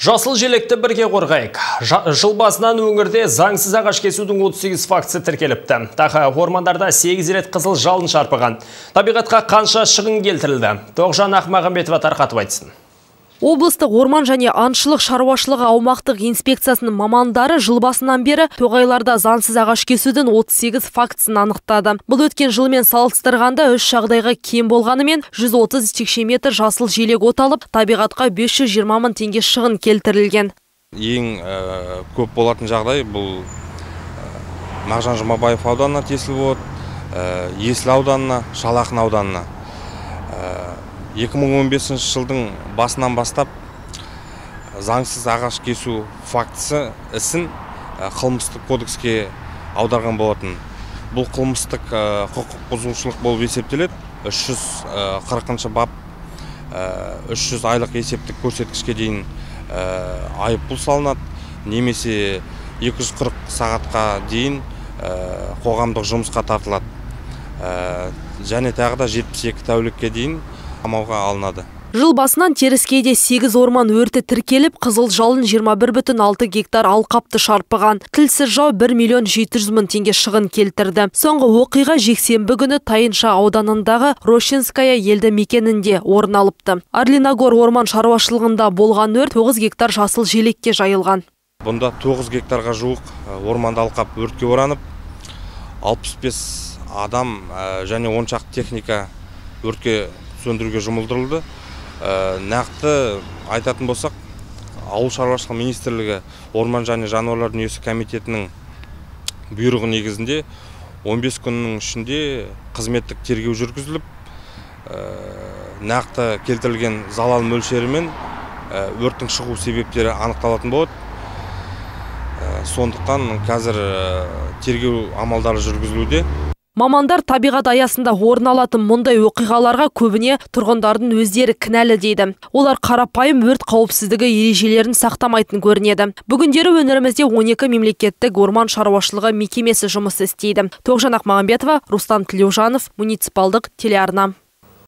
Жасыл желекті бірге қорғайық. Жыл басынан өңірде заңсыз ағаш кесудің 38 фактісі тіркеліпті. Тағы ормандарда 8 рет қызыл жалын шарпыған. Табиғатқа қанша шығын келтірілді? Тоғжан Ақмағамбетова тарқатып айтсын. Облыстық орман және аңшылық шаруашылығы аумақтық инспекциясының мамандары жыл басынан бері тоғайларда заңсыз ағаш кесудің 38 фактісін анықтады. Бұл өткен жылмен салыстырғанда 3 жағдайға кем болғанымен 130 текше метр жасыл желек оталып, табиғатқа 520 мың теңге шығын келтірілген. Ең көп болатын жағдай бұл Мағжан Жұмабаев ауданына тиесілі болады, Есіл ауданына, Шал Ақын ауданына. 2015 жылдың басынан бастап заңсыз ағаш кесу фактісі ісін қылмыстық кодекске аударған болатын. Бұл қылмыстық құқық бұзушылық болып есептеледі. 340 бап 300 айлық есептік көрсеткішке дейін айыппұл салынады, немесе 240 сағатқа дейін қоғамдық жұмысқа тартылады. Және тағы да 72 тәулікке дейін қамауға алынады. Жыл басынан Теріскейде 8 орман өрті тіркеліп, қызыл жалын 21,6 гектар алқапты шарпыған. Тілсіз жау 1 700 000 теңге шығын келтірді. Соңғы оқиға жексенбі күні Тайынша ауданындағы Рощинская елді мекенінде орын алыпты. Арлиногор орман шаруашылығында болған өрт 9 гектар жасыл желекке жайылған. Бұнда 9 гектарға жуық орманды алқап өртке оранып, 65 адам және 10 шақты техника өртке сөндіруге жұмылдырылды. Нақты айтатын болсақ, Ауыл шаруашылығы министрлігі Орман және жануарлар дүниесі комитетінің бұйрығы негізінде 15 күннің ішінде қызметтік тергеу жүргізіліп, нақты келтірілген залал мөлшері мен өрттің шығу себептері анықталатын болады. Сондықтан қазір тергеу амалдары жүргізілуде. Мамандар табиғат аясында орын алатын мұндай оқиғаларға көбіне тұрғындардың өздері кінәлі дейді. Олар қарапайым өрт қауіпсіздігі ережелерін сақтамайтын көрінеді. Бүгіндері өңірімізде 12 мемлекеттік орман шаруашылығы мекемесі жұмыс істейді. Тоғжан Ақмағамбетова, Рустам Тілеужанов, муниципалдық телеарна.